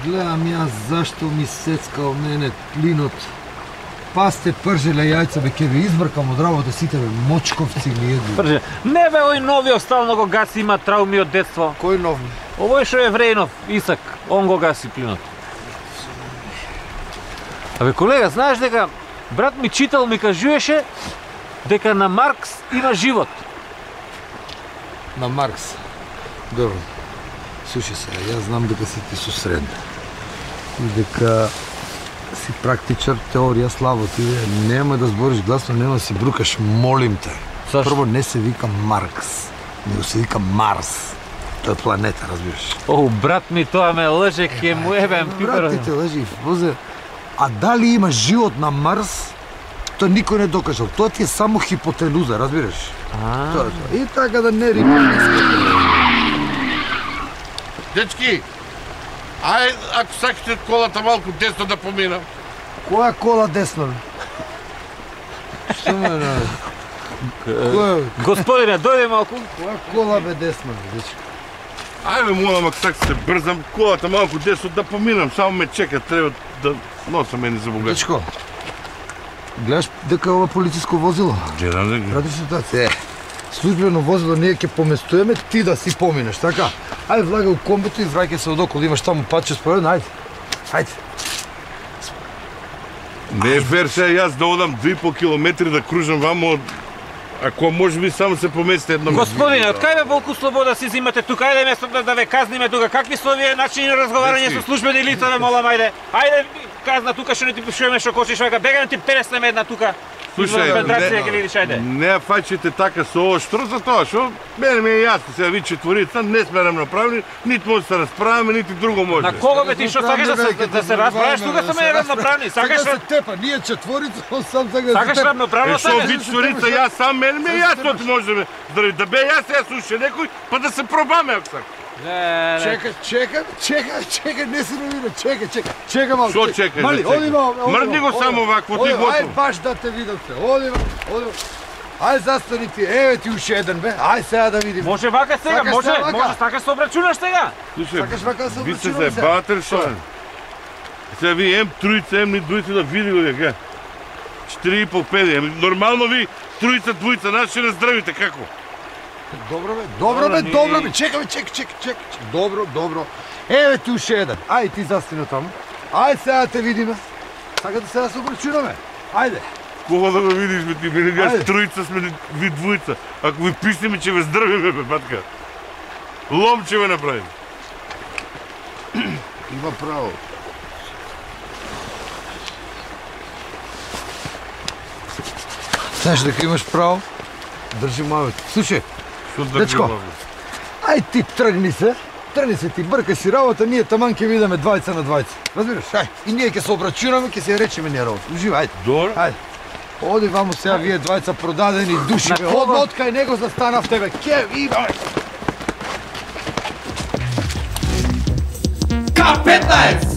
Гледам јас зашто ми сецкал мене клинот. Пасте пржеле јајца, бе, ке ви избркам од работа сите, бе, мочковци ми еду. Прже, не бе, ој новиот стално го гаси, има трауми од детство. Кој нов? Овој што е Евреинов, Исак, он го гаси клинот. Абе, колега, знаеш дека брат ми читал, ми кажуеше дека на Маркс има живот. На Маркс. Добро. Слушай се, јас знам дека си ти со средна. И дека си практичар, теорија, славо ти, нема да збориш гласно, нема да си брукаш, молим те. Зашто? Прво не се вика Маркс, него се вика Марс. Тоа е планета, разбираш. О, брат ми, тоа ме лъже, ке му ебем пипер. Брат ти те лъжи, возе. А дали има живот на Марс, тоа никој не докажал. Тоа ти е само хипотенуза, разбираш? Тоа. И така да не рима. Дечки, ај, ако сакате колата малку десно да поминам. Која кола десно? Што ме најде? Господине, дојде малку. Која кола бе десно, дечко? Ајде, молам, ако сакате брзам колата малку десно да поминам, само ме чека, треба да носам мене за богат. Дечко, гледаш дека ова полициско возило? Гледам дека. Пратиш ситуација. Службено возило ние ќе поместуваме, ти да си поминеш, така? Ајде, влагај у комбото и враќај се одокол, имаш таму патче споредно, ајде. Ајде. Не е фер сега јас да одам 2,5 километри да кружам вамо, ако може би само се помести едно. Господине, од кај бе волку слобода си зимате тука? Ајде место да ве казниме тука. Какви се овие начини на разговарање со службени лица, ме молам, ајде. Ајде, казна тука што не ти пишуваме што кочиш, вака, бегај ти переснеме една тука. Слушај, не фаќите така со ово штро за тоа, што мене ми е јасно, сега ви четворица не сме равноправни, нити може да се расправиме, нити друго може. На кого бе ти што сакаш да се расправиш, тука сме равноправни. Сакаш да се тепа, ние четворица, он сам сака да се сакаш тепа. равноправно Што ви четворица, јас сам, мене ми е јасно, може да ме здрави, да бе јас сега слуша некој, па да се пробаме ако сакаш. Чекай, не се новина, чекай малко. Што чекаш? Мали, оди малко. Мрдни го само вакво, ти готово. Ај баш да те видам се, оди малко. Ај застани ти, еве ти уште еден бе, ај сега да видим. Може вака сега, може, сакаш се обрачунаш сега. Сакаш вака да се ви се обрачунаме заебавате ли што? Сега ви ем тројца, ем ни двојца да види го дека. 4,5-5, нормално ви тројца, двојца, нас ще наздравите, како? Добро бе, чекай. Добро. Еве ти уште еден. Ај ти застани таму. Ај сега да те видиме. Сакате сега да се обрачунаме? Ајде. Кога да го видиш, бе ти, мене јас тројца сме ви двојца. Ако ви писнеме, ќе ве здравиме, бе, батка. Лом ќе ве направиме. Има право. Знаеш дека имаш право? Држи мавето. Слушай, дечко, ај ти тргни се ти, бркај си работа, ние таман ќе видиме двајца на двајца. Разбираш? Ај, и ние ќе се обрачунаме, ќе се речеме ние работа. Ужива, ајде. Добро. Ајде. Оди ваму сега вие двајца продадени души, бе. Од кај него застанавте, бе. Ке има. K15!